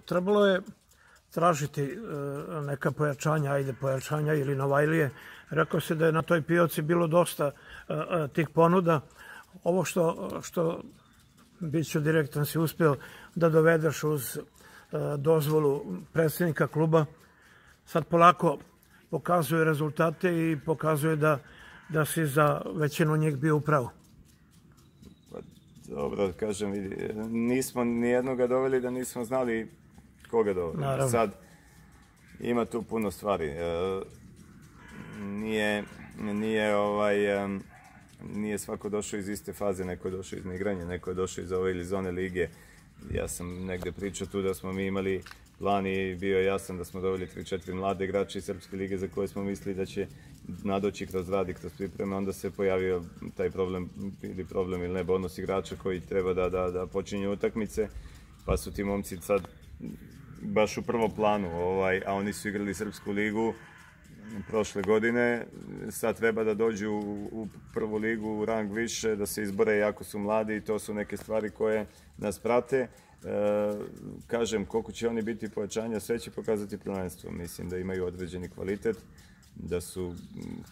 trebalo je tražiti neka pojačanja ili Novajlije. Rekao se da je na toj pioci bilo dosta tih ponuda. Ovo što bit ću direktan si uspio da dovedeš uz dozvolu predsjednika kluba, sad polako pokazuje rezultate i pokazuje da si za većinu njih bio upravo. Dobro, kažem, nismo nijednoga doveli da nismo znali koga doveli. Sad, ima tu puno stvari. Nije svako došao iz iste faze, neko je došao iz neigranja, neko je došao iz ove ili zone lige. Ja sam negdje pričao tu da smo mi imali plan i bio je jasan da smo doveli 3-4 mlade igrače iz Srpske lige za koje smo mislili da će nadoći kroz rad i kroz pripreme. Onda se pojavio taj problem ili ne, bonus igrača koji treba da počinju utakmice, pa su ti momci sad baš u prvom planu, a oni su igrali Srpsku ligu prošle godine, sad treba da dođu u prvu ligu, u rang više, da se izbore jako su mladi i to su neke stvari koje nas prate. Kažem, koliko će oni biti pojačanja, sve će pokazati prvenstvo. Mislim da imaju određeni kvalitet, da su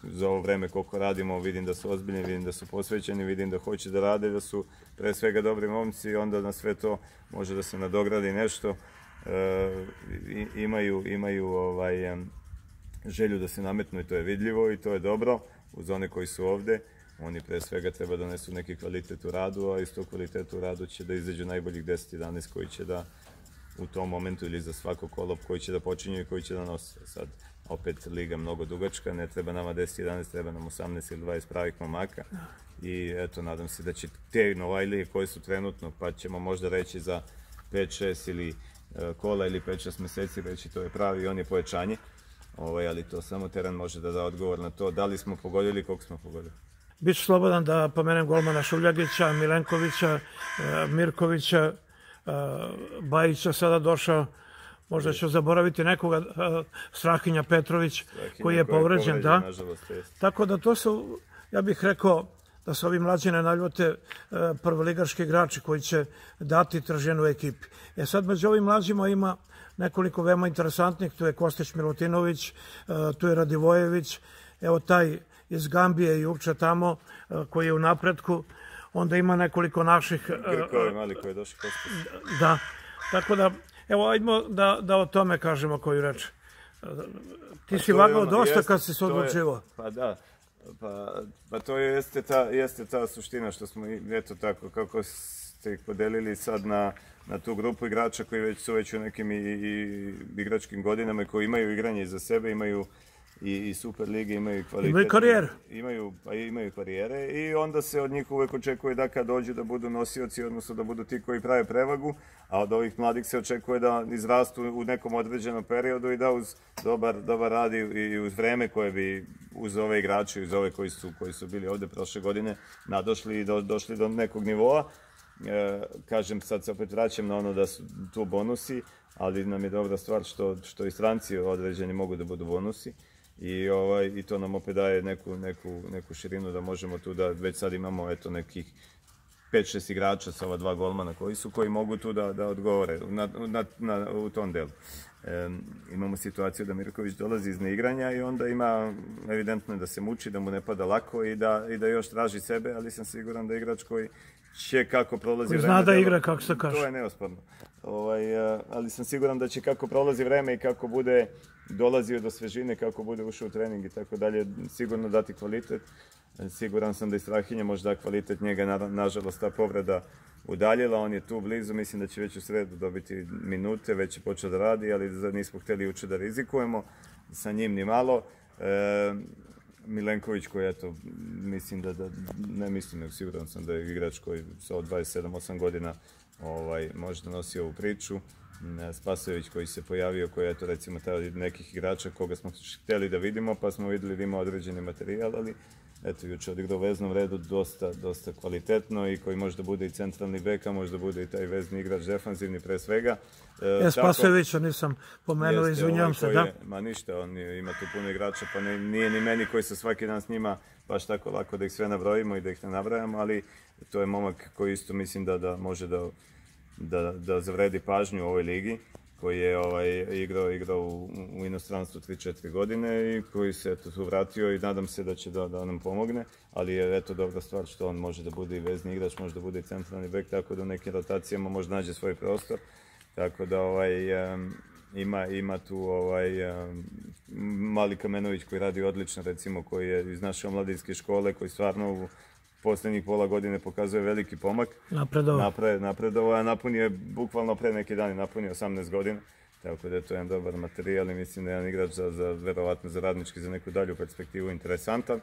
za ovo vreme koliko radimo, vidim da su ozbiljni, vidim da su posvećeni, vidim da hoće da rade, da su pre svega dobri momci i onda na sve to može da se nadogradi nešto. Imaju želju da se nametnu i to je vidljivo i to je dobro uz one koji su ovde. Oni pre svega treba da donesu neki kvalitet u radu, a iz tog kvaliteta u radu će da izađu najboljih 10-11 koji će da u tom momentu ili za svako kolo koji će da počinju i koji će da nose. Sad, opet, liga mnogo dugačka, ne treba nama 10-11, treba nam 18 ili 20 pravih momaka. I eto, nadam se da će te Novajlije koje su trenutno, pa ćemo možda reći za 5-6 ili kola ili 5-6 meseci reći to je pravi i on je pojačanje. Ali to samo teren može da da odgovor na to da li smo pogodili i koliko smo pogodili. Biću slobodan da pomenem golmana Šuljagića, Milenkovića, Mirkovića, Bajića sada došao. Možda ću zaboraviti nekoga, Strahinja Petrović koji je povređen. Tako da to su, ja bih rekao, da se ovi mlađi ne naljute, prvoligaški igrači koji će dati trženu ekipi. Sad među ovim mlađima ima nekoliko veoma interesantnih, tu je Kostić Milutinović, tu je Radivojević, evo taj iz Gambije i Jukča tamo koji je u napretku, onda ima nekoliko naših... Grkovi mali koji je došao Kostić. Da, tako da, evo, ajdemo da o tome kažemo koju reč. Ti si vagao dosta kad si se odlučivao. Pa da, pa to jeste ta suština što smo, eto tako, kako ste ih podelili sad na tu grupu igrača koji su već u nekim igračkim godinama i koji imaju igranje iza sebe, imaju i Super lige, imaju kvalitet. Imaju karijere. Imaju karijere i onda se od njih uvek očekuje da kad dođu da budu nosioci, odnosno da budu ti koji prave prevagu, a od ovih mladih se očekuje da izrastu u nekom određenom periodu i da uz dobar rad i uz vreme koje bi uz ove igrače, uz ove koji su bili ovde prošle godine nadošli i došli do nekog nivoa. Kažem, sad se opet vraćam na ono da su tu bonusi, ali nam je dobra stvar što i stranci određeni mogu da budu bonusi i to nam opet daje neku širinu da možemo tu da već sad imamo eto nekih 5-6 igrača sa ova 2 golmana koji mogu tu da odgovore u tom delu. Imamo situaciju da Mirković dolazi iz neigranja i onda ima evidentno da se muči, da mu ne pada lako i da još traži sebe, ali sam siguran da igrač koji će kako prolazi vreme... Zna da igra, kako se kaže. To je neosporno. Ali sam siguran da će kako prolazi vreme i kako bude dolazio do svežine, kako bude ušao u trening i tako dalje, sigurno dati kvalitet. Siguran sam da i Strahinja može da kvalitet, njega nažalost ta povreda udaljila, on je tu blizu, mislim da će već u sredu dobiti minute, već je počeo da radi, ali nismo hteli uče da rizikujemo sa njim ni malo. Milenković koji, eto, mislim ne mislim, nego siguran sam da je igrač koji sa 27-8 godina može da nosi ovu priču. Spasojević koji se pojavio, koji je, eto, recimo, nekih igrača koga smo hteli da vidimo, pa smo videli da ima određeni materijal, ali eto, juče odigrao u veznom redu dosta kvalitetno i koji može da bude i centralni bek, a može da bude i taj vezni igrač defanzivni pre svega. Spasojevića nisam pomenuo, izvinjam se, da? Ma ništa, on ima tu puno igrača, pa nije ni meni koji se svaki dan s njima baš tako lako da ih sve nabrojimo i da ih ne nabrajamo, ali to je momak koji isto mislim da može da zavredi pažnju u ovoj ligi, koji je igrao u inostranstvu 3-4 godine i koji se tu vratio i nadam se da će da nam pomogne, ali je eto dobra stvar što on može da bude i vezni igrač, može da bude i centralni bek, tako da u nekim rotacijama može nađe svoj prostor, tako da ima tu Mali Kamenović koji radi odlično, recimo, koji je iz naše omladinske škole, koji stvarno u posljednjih pola godine pokazuje veliki pomak. Napredovao, a napunio je bukvalno pre neki dan, napunio 18 godina. Tako da je to jedan dobar materijal i mislim da je jedan igrač verovatno za Radnički, za neku dalju perspektivu interesantan.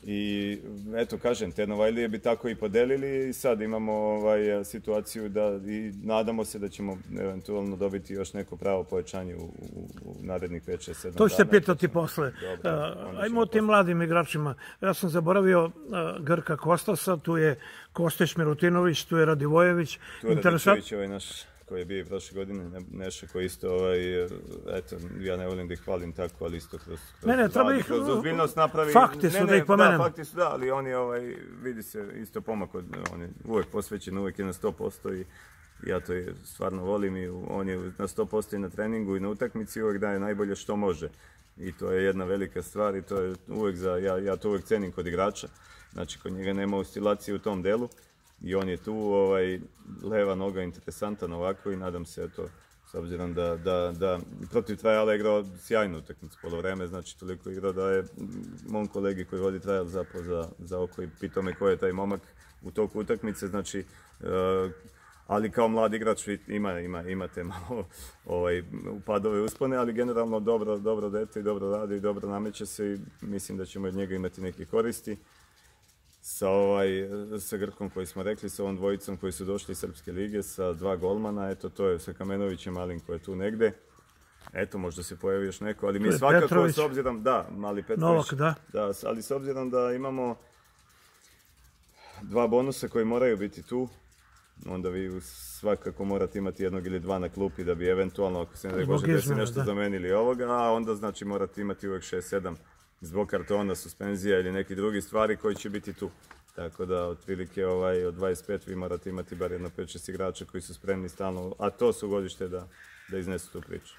I eto, kažem, te Novajlije bi tako i podelili i sad imamo situaciju da i nadamo se da ćemo eventualno dobiti još neko pravo pojačanje u narednih 5-6-7 dana. To ću se pitati posle. Ajmo o tim mladim igračima. Ja sam zaboravio Grka Kostasa, tu je Kostić Milutinović, tu je Radivojević. Tu je Radičević, naš koji je bio i prošle godine, Neša koji isto, eto, ja ne volim da ih hvalim tako, ali isto kroz ozbiljnost napravi. Fakti su da ih pomenem. Da, fakti su da, ali on je, vidi se isto pomak, on je uvijek posvećen, uvijek je na 100% i ja to stvarno volim i on je na 100% i na treningu i na utakmici, uvijek daje najbolje što može. I to je jedna velika stvar i to je uvijek ja to uvijek cenim kod igrača, znači kod njega nema oscilacije u tom delu. I on je tu, leva noga interesantan ovako i nadam se to, s obzirom da protiv Trajala igrao sjajnu utakmicu polovreme, znači toliko igrao da je mom kolegi koji vodi Trajal zapao za oko i pitao me ko je taj momak u toku utakmice, znači, ali kao mlad igrač imate malo upadove uspone, ali generalno dobro dete i dobro radi i dobro nameće se i mislim da ćemo od njega imati neke koristi. Sa Grkom koji smo rekli, sa ovom dvojicom koji su došli iz Srpske lige, sa 2 golmana, eto to je sa Kamenovićem Malim koji je tu negde. Eto, možda se pojavi još neko, ali mi svakako s obzirom, da, Mali Petrović, Novak, da, ali s obzirom da imamo 2 bonusa koji moraju biti tu, onda vi svakako morate imati 1 ili 2 na klupi da bi eventualno, ako se ne može desiti nešto zamenili ovoga, a onda znači morate imati uvijek 6-7 zbog kartona, suspenzija ili neki drugi stvari koji će biti tu. Tako da otprilike od 25 vi morate imati bar jedno 5-6 igrača koji su spremni stalno, a to su godište da iznesu tu priču.